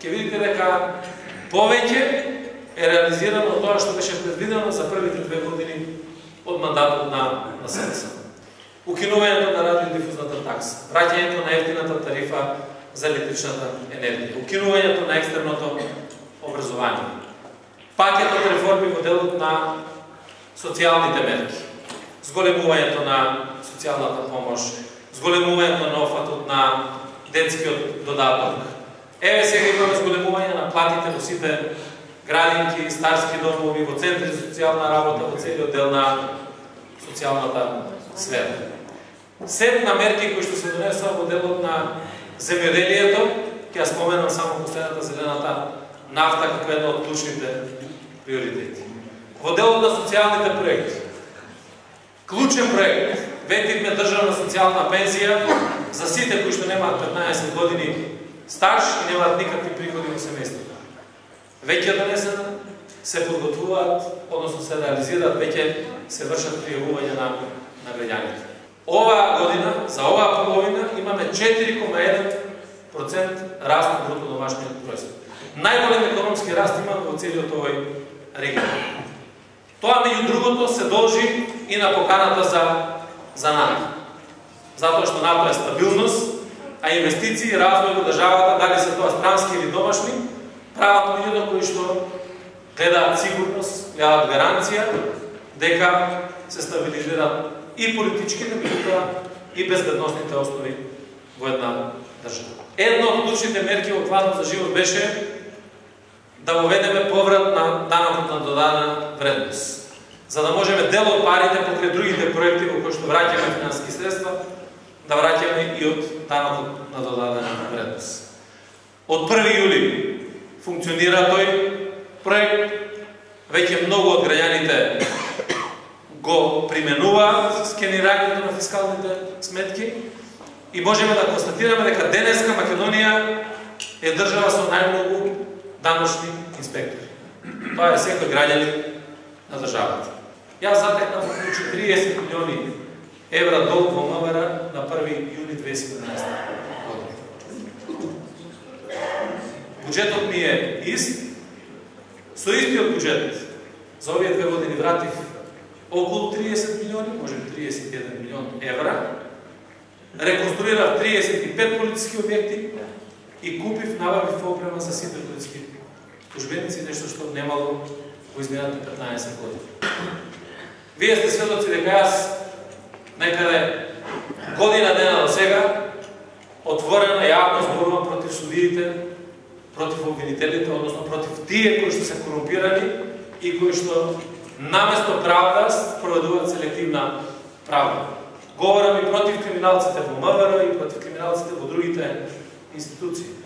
ќе видите дека повеќе е реализирано тоа што беше предвидено за првите 2 години од мандатот на СДСМ. Укинувањето на радиодифузната такса, враќањето на ефтината тарифа за електричната енергија, укинувањето на екстерното образование, пакетот реформи во делот на социјалните мерки, зголемувањето на социјалната помош, зголемувањето на офатот на детскиот додаток. Еве сега имаме зголемување на платите во сите градинки, старски домови, во центри за социјална работа, во целиот дел на социјалната сфера. Сет на мерки кои што се донесоа во делот на земјоделието, ќе ја споменам само последната зелената нафта како една од клучните приоритети. Во делот на социјалните проекти, клучен проект, ветивме државна социјална пензија за сите кои што немаат 15 години стаж и немаат никакви приходи во семејството. Веќе донесена, се подготвуваат, односно се реализираат, веќе се вршат пријавување на граѓаните. Ова година, за оваа половина, имаме 4,1% раст на бруто домашниот производ. Најголем економски раст имаме во целиот овој регион. Тоа, меѓу другото, се должи и на поканата за НАТО. Затоа што НАТО е стабилност, а инвестиции и развој во државата, дали се тоа странски или домашни, прават луѓето кои што гледаат сигурност, гледаат гаранција дека се стабилизираат и политичките, меѓутоа и безбедносните основи во една држава. Едно од клучните мерки во планот за живот беше да воведеме поврат на данокот на додадена вредност, за да можеме дел од парите покрај другите проекти во кои што враќаме финансиски средства, да враќаме и од данокот на додадена вредност. Од 1 јули функционира тој проект, веќе многу од граѓаните го применуваат скенирањето на фискалните сметки и можеме да констатираме дека денеска Македонија е држава со најмногу даночни инспектори. Тоа е секој граѓанин на државата. Јас затекнав околу 30 милиони евра долг во МВР на 1 јуни 2017 година. Буџетот ми е ист. Со истиот буџет за овие 2 години вратив околу 30 милиони, може би 31 милион евра, реконструирав 35 полициски објекти и купив, набавив опрема за сите полициски службеници, нешто што немало во изминатите 15 години. Вие сте сведоци дека јас некаде година дена до сега отворено јавно зборувам против судиите, против обвинителите, односно против тие кои што се корумпирани и кои што наместо правда спроведуваат селективна правда. Говорам и против криминалците во МВР и против криминалците во другите институции.